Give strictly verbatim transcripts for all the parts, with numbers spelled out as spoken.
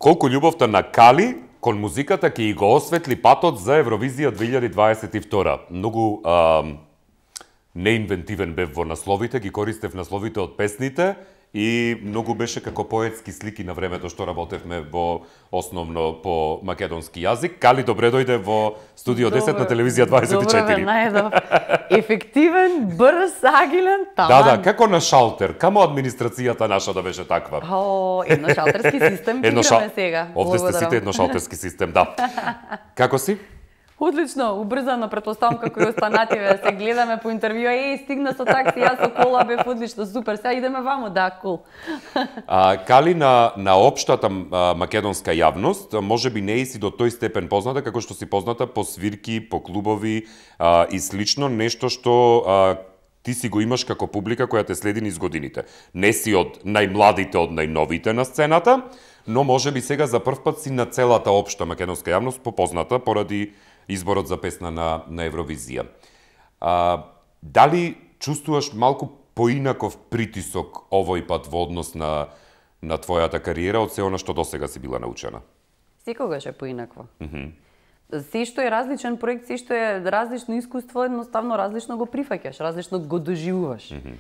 Колку љубовта на Кали кон музиката ќе и го осветли патот за Евровизија две илјади дваесет и втора. Многу а, неинвентивен бев во насловите, ги користев насловите од песните и многу беше како поетски слики на времето што работевме во основно по македонски јазик. Кали, добре дојде во студио десет на телевизија дваесет и четири. Добре, најдов. Ефективен, брз, агилен, таман. Да, да, како на шалтер, камо администрацијата наша да беше таква. О, едношалтерски систем ќе играме сега. Овде сте сите едношалтерски систем, да. Како си? Одлично, убрзано, претпоставам како и останативе, се гледаме по интервју, еј, стигна со такси, јас со кола, бев одлично, супер, сега идеме вамо, да, кул. А, Кали, на, на општата а, македонска јавност, може би не и си до тој степен позната, како што си позната по свирки, по клубови а, и слично, нешто што а, ти си го имаш како публика која те следи низ годините. Не си од најмладите, од најновите на сцената, но може би сега за прв пат си на целата општа македонска јавност попозната поради изборот за песна на, на Евровизија. А, дали чувствуваш малку поинаков притисок овој пат во однос на, на твојата кариера од се она што досега си била научена? Секогаш е поинакво. Mm -hmm. Се што е различен проект, се што е различно искуство, едноставно различно го прифаќаш, различно го доживуваш. Mm -hmm.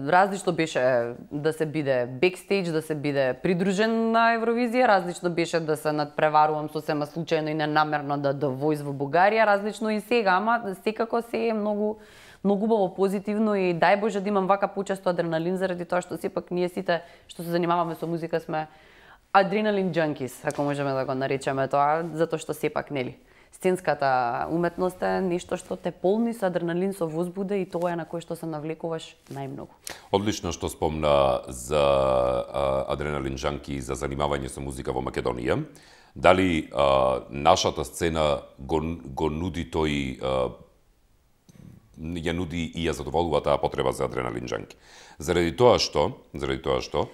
Различно беше да се биде бекстејдж, да се биде придружен на Евровизија, различно беше да се надпреварувам сосема случајно и ненамерно да да војз во Бугарија, различно и сега, ама секако се е многу многу убаво, позитивно и дај Боже да имам вака почесто адреналин заради тоа што сепак ние сите што се занимаваме со музика сме адреналин джанкис, ако можеме да го наречеме тоа, затоа што сепак нели сценската уметност е нешто што те полни со адреналин, со возбуда и тоа е на кој што се навлекуваш најмногу. Одлично што спомна за а, адреналин джанки и за занимавање со музика во Македонија. Дали а, нашата сцена го, го нуди тој а, ја нуди и ја задоволува таа потреба за адреналин джанки? Заради тоа што, заради тоа што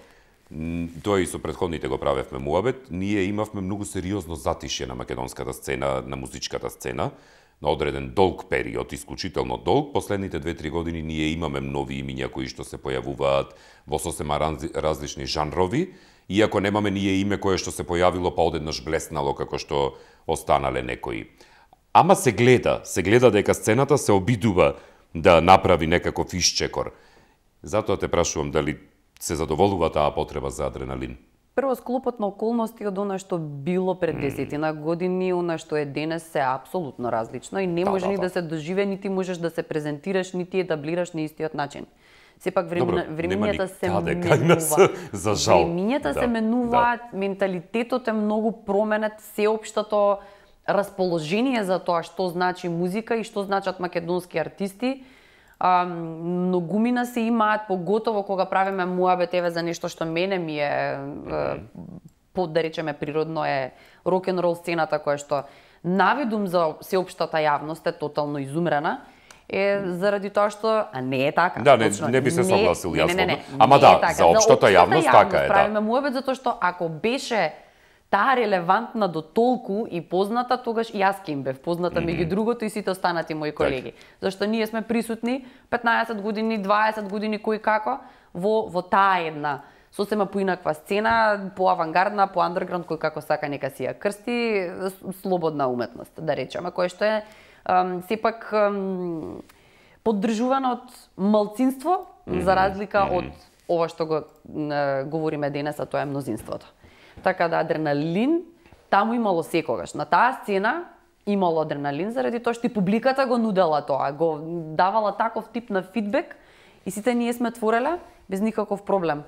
тоа и со претходните го правевме муабет, ние имавме многу сериозно затишје на македонската сцена, на музичката сцена, на одреден долг период, исклучително долг. Последните две-три години ние имаме нови имиња кои што се појавуваат во сосема различни жанрови, иако немаме ние име кое што се појавило па одеднаш блеснало како што останале некои. Ама се гледа, се гледа дека сцената се обидува да направи некаков исчекор. Затоа те прашувам дали се задоволува таа потреба за адреналин? Прво, склопот на околности од она што било пред десетина години, она што е денес се апсолутно различно и не да, може да, ни да. да се доживе, нити можеш да се презентираш, нити етаблираш на истиот начин. Сепак времена, времењата се менуваат. За жал. Времењата да, се менуваат, да. Менталитетот е многу променет, сеопштото расположение за тоа што значи музика и што значат македонски артисти. А, многумина се имаат, поготово кога правиме муабет еве за нешто што мене ми е, mm-hmm. по да речеме природно е рок-н-рол сцената која што навидум за сеопштата јавност е тотално изумрена. Е заради тоа што а не е така. Да, не, точно. не би се согласил јас. Не, не, не, не, Ама не да, е така. за општата јавност така е, да. Правиме муабет затоа што ако беше таа релевантна до толку и позната, тогаш и јас ке им бев позната mm -hmm. меѓу другото и сите останати мои колеги. Так. Зашто ние сме присутни петнаесет години, дваесет години кој како во во таа една сосема поинаква сцена, по авангардна, по андерграунд, кој како сака нека си ја крсти, слободна уметност, да речеме, која што е ам, сепак ам, поддржувана од малцинство, mm -hmm. за разлика mm -hmm. од ова што го е, говориме денес, а тоа е мнозинството. Така да адреналин таму имало секогаш. На таа сцена имало адреналин заради тоа што и публиката го нудела тоа, го давала таков тип на фидбек и сите ние сме твореле без никаков проблем.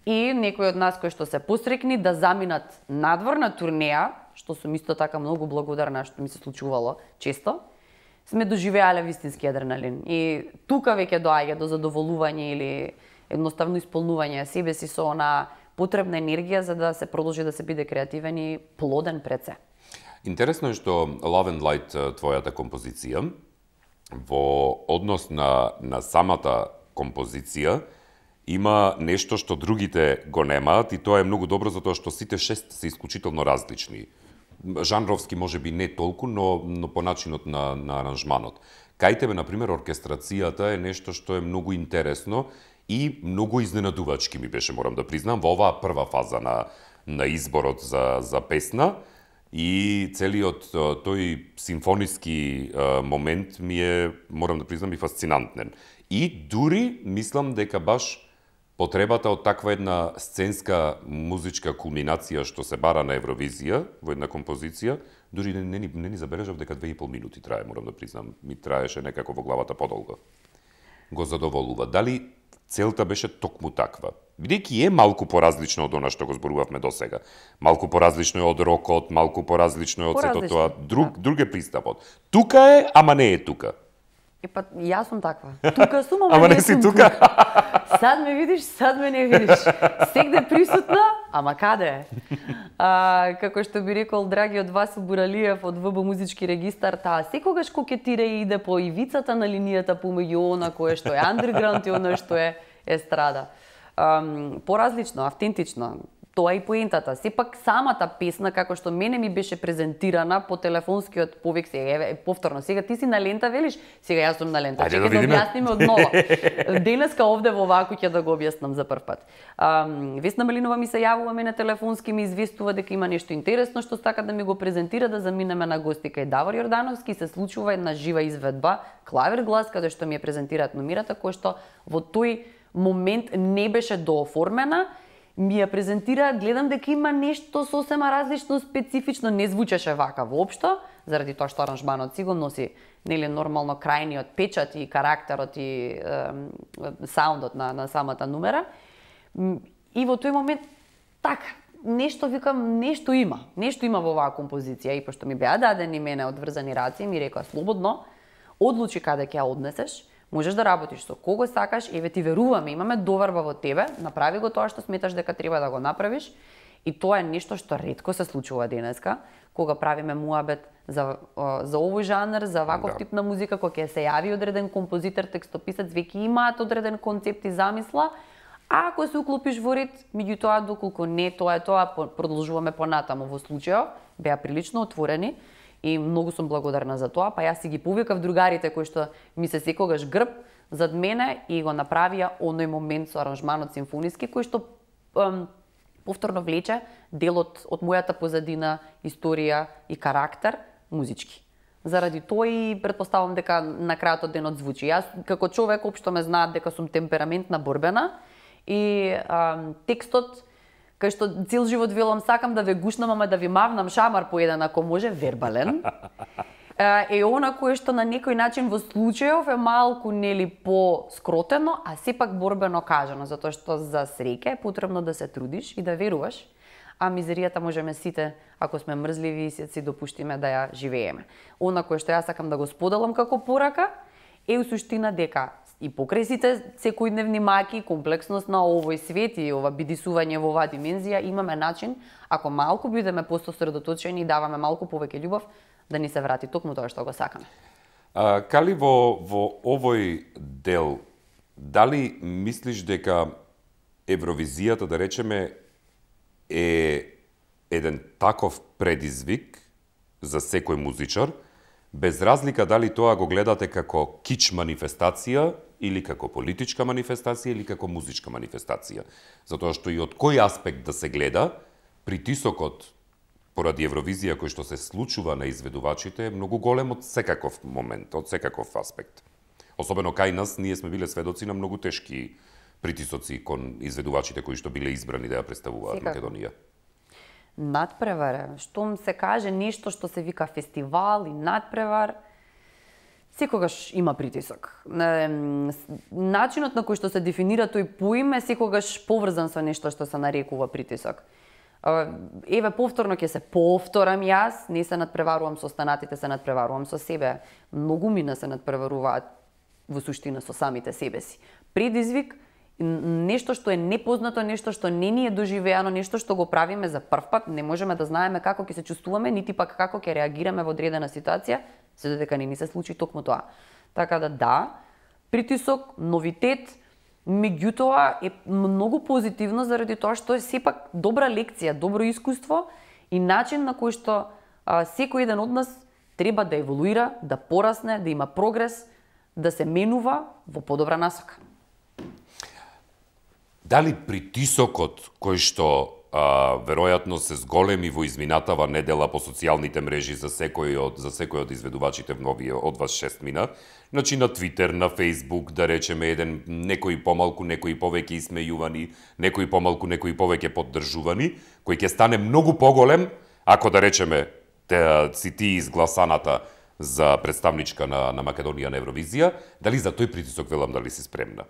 И некои од нас кои што се посрекни да заминат надвор на турнеја, што сум исто така многу благодарна што ми се случувало често, сме доживеале вистински адреналин. И тука веќе доаѓа до задоволување или едноставно исполнување себе си со она потребна енергија за да се продолжи да се биде креативен и плоден пред се. Интересно е што Love and Light, твојата композиција, во однос на, на самата композиција, има нешто што другите го немаат и тоа е многу добро затоа што сите шест се исклучително различни. Жанровски може би не толку, но, но по начинот на, на аранжманот. Кај тебе, например, оркестрацијата е нешто што е многу интересно и многу изненадувачки ми беше, морам да признам, во оваа прва фаза на, на изборот за, за песна и целиот тој симфониски момент ми е, морам да признам, и фасцинантен. И дури мислам дека баш потребата од таква една сценска музичка кулминација што се бара на Евровизија во една композиција, дури не, не, не ни забележав дека две и пол минути трае, морам да признам. Ми траеше некако во главата подолго. Го задоволува. Дали целта беше токму таква? Бидејќи е малку поразлично од она што го зборувавме досега. Малку поразлично е од рокот, малку поразлично е од сето тоа. Друг, да. Друг е пристапот. Тука е, ама не е тука. И па, јас сум таква. Тука сум, ама, ама не, не си сум тука. тука. Сад ме видиш, сад ме не видиш. Сегде присутна, ама каде е? А, како што би рекол драгиот Васил Буралиев од ВБ Музички регистар, таа секогаш кокетира и иде по ивицата на линијата помеѓу она кое што е андерграунд и она што е естрада. Um, поразлично, автентично. Тоа е и поентата. Сепак самата песна, како што мене ми беше презентирана по телефонскиот повик, сега, еве, повторно, сега ти си на лента, велиш, сега јас сум на лента. Ајде Чекај да да објасниме од нова. Денеска овде во ваку ќе да го објаснам за прв пат. Um, Весна Малинова ми се јавува мене телефонски, ми известува дека има нешто интересно што сака да ми го презентира, да заминеме на гости кај Давор Јордановски, се случува една жива изведба, клавир глас, каде што ми ја презентираат номерата, која што во тој момент не беше дооформена, ми ја презентираат, гледам дека има нешто сосема различно, специфично, не звучеше вака воопшто, заради тоа што аранжманот си го носи, нели, нормално крајниот печат и карактерот и е, саундот на, на самата номера. И во тој момент, така, нешто викам, нешто има, нешто има во оваа композиција, и пошто ми беа дадени мене одврзани раци, ми рекоа слободно, одлучи каде ќе ја однесеш, можеш да работиш со кого сакаш, еве ти веруваме, имаме доверба во тебе, направи го тоа што сметаш дека треба да го направиш. И тоа е нешто што ретко се случува денеска, кога правиме муабет за, за овој жанр, за ваков да. Тип на музика, кога ќе се јави одреден композитор, текстописец, веќе имаат одреден концепт и замисла, а ако се уклопиш во ред, меѓутоа доколку не тоа е тоа, продолжуваме понатаму. Во случајот беа прилично отворени, и многу сум благодарна за тоа, па јас си ги повикав другарите кои што ми се секогаш грб зад мене и го направија оној момент со аранжманот симфониски кој што ем, повторно влече делот од мојата позадина, историја и карактер музички. Заради тоа и претпоставам дека на крајот од денот звучи. Јас како човек општо ме знаат дека сум темпераментна, борбена и ем, текстот кај што цел живот велам сакам да ве гушнам, ама да ви мавнам шамар по еден ако може, вербален. Е она кое што на некој начин во случајов е малку нели по-скротено, а сепак борбено кажано, затоа што за среќа е потребно да се трудиш и да веруваш, а мизеријата можеме сите, ако сме мрзливи и се си допуштиме да ја живееме. Она кое што јас сакам да го споделам како порака е у суштина дека и покрај сите секојдневни маки, комплексност на овој свет и ова бидисување во оваа димензија, имаме начин, ако малку бидеме пососредоточени и даваме малку повеќе љубов, да ни се врати токму тоа што го сакаме. А, Кали, во, во овој дел, дали мислиш дека Евровизијата, да речеме, е еден таков предизвик за секој музичар, без разлика дали тоа го гледате како кич манифестација или како политичка манифестација или како музичка манифестација. Затоа што и од кој аспект да се гледа, притисокот поради Евровизија кој што се случува на изведувачите е многу голем од секаков момент, од секаков аспект. Особено кај нас, ние сме биле сведоци на многу тешки притисоци кон изведувачите кои што биле избрани да ја представуваат Македонија. Надпревар, штом се каже нешто што се вика фестивал и надпревар, секогаш има притисок. Начинот на кој што се дефинира тој поим е секогаш поврзан со нешто што се нарекува притисок. Еве, повторно ќе се повторам јас, не се надпреварувам со останатите, се надпреварувам со себе. Многу мина се надпреваруваат во суштина со самите себе си. Предизвик, нешто што е непознато, нешто што не ни е доживеано, нешто што го правиме за прв пат, не можеме да знаеме како ќе се чувствуваме, нити пак како ќе реагираме во одредена ситуација, се додека не ни се случи токму тоа. Така да да, притисок, новитет, меѓутоа е многу позитивно заради тоа што е сепак добра лекција, добро искуство и начин на кој што а, секој еден од нас треба да еволуира, да порасне, да има прогрес, да се менува во подобра насока. Дали притисокот кој што а, веројатно се зголеми во изминатава недела по социјалните мрежи за секој од за секој од изведувачите во новие од вас шест мина. Значи на Твитер, на Фејсбук, да речеме еден некои помалку, некои повеќе исмејувани, некои помалку, некои повеќе поддржувани, кој ќе стане многу поголем ако да речеме те, си ти изгласаната за представничка на, на Македонија на Евровизија, дали за тој притисок велам дали си спремна?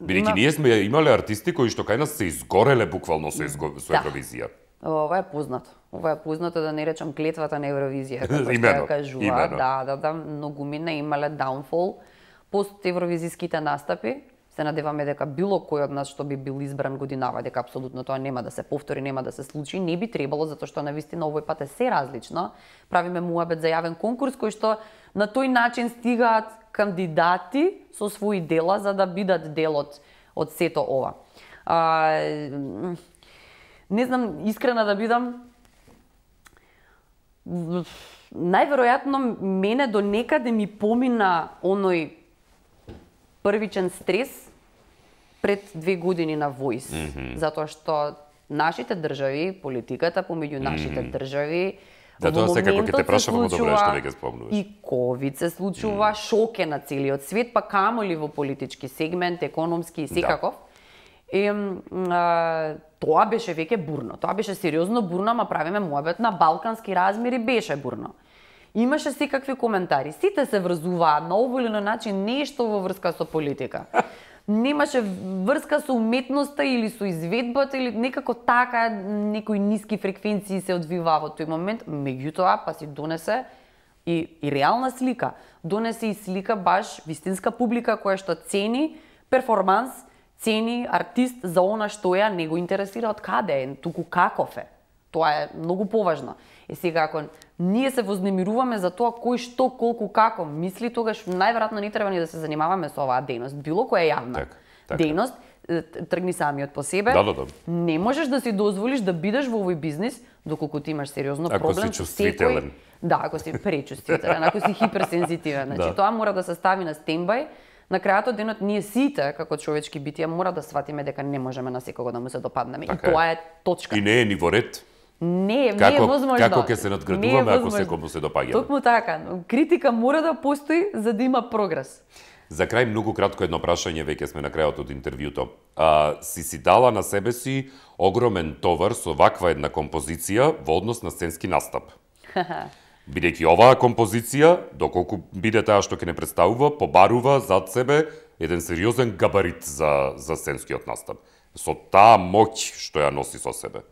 Бидејќи Има... ние сме имале артисти кои што кај нас се изгореле буквално со, изго... со да. Евровизија. Ова е познато. Ова е познато, да не речам клетвата на Евровизија, како што имено, ја кажува. имено. Да, да, да, многу мина имале даунфол пост евровизиските настапи. Се надеваме дека било кој од нас што би бил избран годинава, дека апсолутно тоа нема да се повтори, нема да се случи, не би требало, затоа што навистина овој пат е се различно. Правиме муабет за јавен конкурс кој што на тој начин стигаат кандидати со своји дела за да бидат дел од, од сето ова. А, не знам, искрена да бидам, најверојатно мене до некаде ми помина оној првичен стрес пред две години на Voice, mm -hmm. затоа што нашите држави, политиката помеѓу нашите mm -hmm. држави, да, тоа секако ќе те прашам, добро што веќе спомнуваш. И ковид се случува, mm. шок е на целиот свет, па камоли во политички сегмент, економски и секаков. Да. И, а, тоа беше веќе бурно, тоа беше сериозно бурно, ама правиме муабет на балкански размери, беше бурно. Имаше секакви коментари, сите се врзуваат на овој или на начин нешто во врска со политика. Немаше врска со уметноста или со изведбата или некако така некои ниски фреквенции се одвиваа во тој момент, меѓутоа па си донесе и, и реална слика. Донесе и слика баш вистинска публика која што цени перформанс, цени артист за она што ја не го интересира од каде е, туку каков е. Тоа е многу поважно. И сега ако ние се вознемируваме за тоа кој што, колку, како мисли, тогаш најверојатно не треба ни да се занимаваме со оваа дејност. Било која јавна так, так. дејност, тргни самиот по себе. Да, да, да. Не можеш да си дозволиш да бидеш во овој бизнис доколку ти имаш сериозно ако проблем. Ако си чувствителен. Секој... Да, ако си пречувствителен, ако си хиперсензитивен. Значи да. Тоа мора да се стави на стендбај. На крајот од денот ние сите, како човечки битија, мора да сватиме дека не можеме на секого да му се допаднеме. Така и тоа е точка. И не е ни во ред. Не, како, не е возможно. Како ќе се надградуваме ако секому се допаѓаме? Токму така. Критика мора да постои за да има прогрес. За крај многу кратко едно прашање, веќе сме на крајот од интервјуто. А, си си дала на себе си огромен товар со ваква една композиција во однос на сценски настап. Бидејќи оваа композиција, доколку биде таа што ќе не представува, побарува зад себе еден сериозен габарит за, за сценскиот настап. Со таа моќ што ја носи со себе.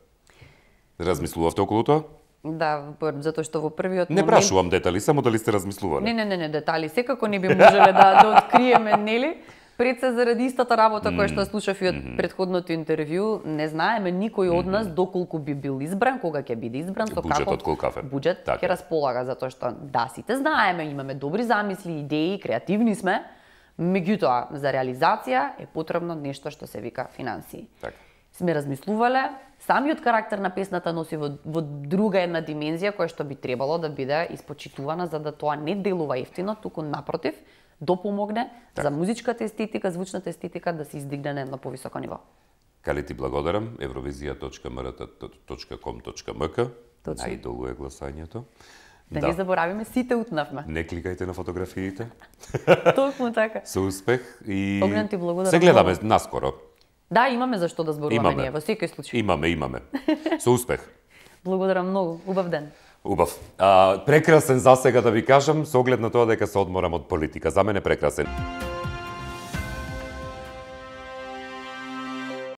Размислувавте околу тоа? Да, затоа што во првиот не момент... Не прашувам детали, само дали сте размислувале. Не, не, не, не, детали секако не би можеле да, да откриеме, нели? Пред се заради истата работа која што слушав и од предходното интервју, не знаеме никој од нас доколку би бил избран, кога ќе биде избран, со каков буџет ќе располага, затоа што да, сите знаеме, имаме добри замисли, идеи, креативни сме, меѓутоа за реализација е потребно нешто што се вика финансии. Така. Сме размислувале, самиот карактер на песната носи во, во друга една димензија која што би требало да биде испочитувана за да тоа не делува ефтино, туку напротив, допомогне так. за музичката естетика, звучната естетика да се издигне на едно повисоко ниво. Кали ти благодарам, евровизија точка ем ар точка ком точка ем ка. Најдолго е гласањето. Да, да не заборавиме, сите утнавме. Не кликајте на фотографиите. Токму така. Со успех и Огнен ти благодарам. Се гледаме наскоро. Да, имаме за што да зборуваме имаме. ние, во секој случај. Имаме, имаме. Со успех. Благодарам многу, убав ден. Убав. А, прекрасен засега да ви кажам, со оглед на тоа дека се одморам од политика. За мене прекрасен.